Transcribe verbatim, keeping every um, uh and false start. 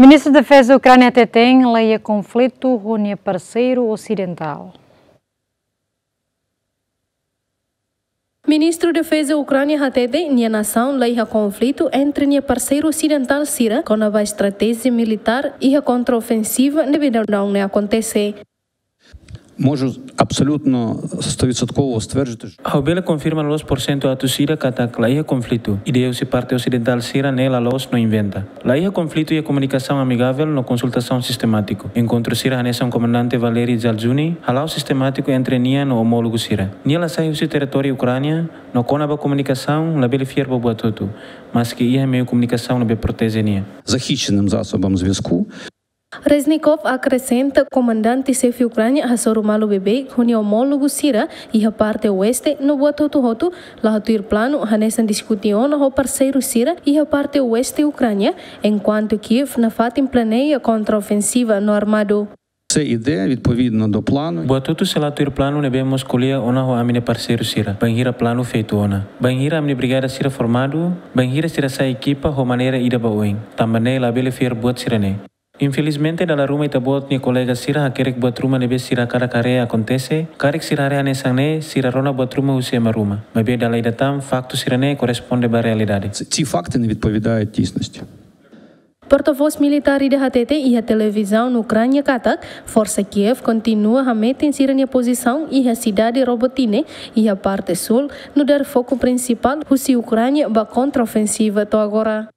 Ministru Defeza Ukránia hateten la iha konflitu ho nia parseiru osidentál. Ministru Defeza Ukránia hatete nia nasaun la iha konflitu entre nia parseiru osidentál sira kona-ba estratéjia militár iha kontraofensiva ne'ebé daudaun ne'e akontese. Можу абсолютно стовідсотково стверджувати, што... Ha'u bele konfirma loloos porsentu atus ida katak la iha konflitu. Ideia husi parte osidentál sira ne'e la loos no inventa. La iha konflitu iha komunikasaun amigavel no konsultasaun sistemátiku. Enkontru sira hanesan Komandante Valery Zaluzhny hala'o sistemátiku entre nia no omólogu sira. Nia la sai husi territóriu Ukránia, no kona-ba komunikasaun labele fiar ba buat hotu, maski iha meiu komunikasaun ne'ebé proteje nia. Захищеним засобам зв'язку. Reznikov akresenta komandante xefe Ukránia hasoru malu beibeik ho nia omólogu sira iha parte oeste no buat hotu-hotu la tuir planu hanesan diskute ona ho parseiru sira iha parte oeste Ukránia, enkuantu Kiev nafatin planeia kontraofensiva no armadu. Все йде відповідно до плану. Buat hotu sei la tuir planu ne'ebé mós ko'alia ona ho ami-nia parseiru sira. Bainhira planu feitu ona, bainhira ami-nia brigada sira formadu, bainhira sira sai ekipa ho maneira ida ba oin. Tanba ne'e labele fiar buat sira-ne'e. Infelizmente, dala ruma ita-boot nia kolega sira hakerek buat ruma ne'ebé sira hakarak haree akontese, karik sira haree hanesan ne'e, sira rona buat ruma husi ema ruma. Maibé dala ida tan, faktu sira-ne'e korresponde ba realidade. Ці факти не відповідають дійсності. Portavós militár ida hatete iha televizaun Ukránia katak, forsa Kiev kontinua hametin sira-nia pozisaun iha sidade Robotyne, iha parte súl, nu'udar foku prinsipál husi Ukránia ba kontraofensiva to'o agora.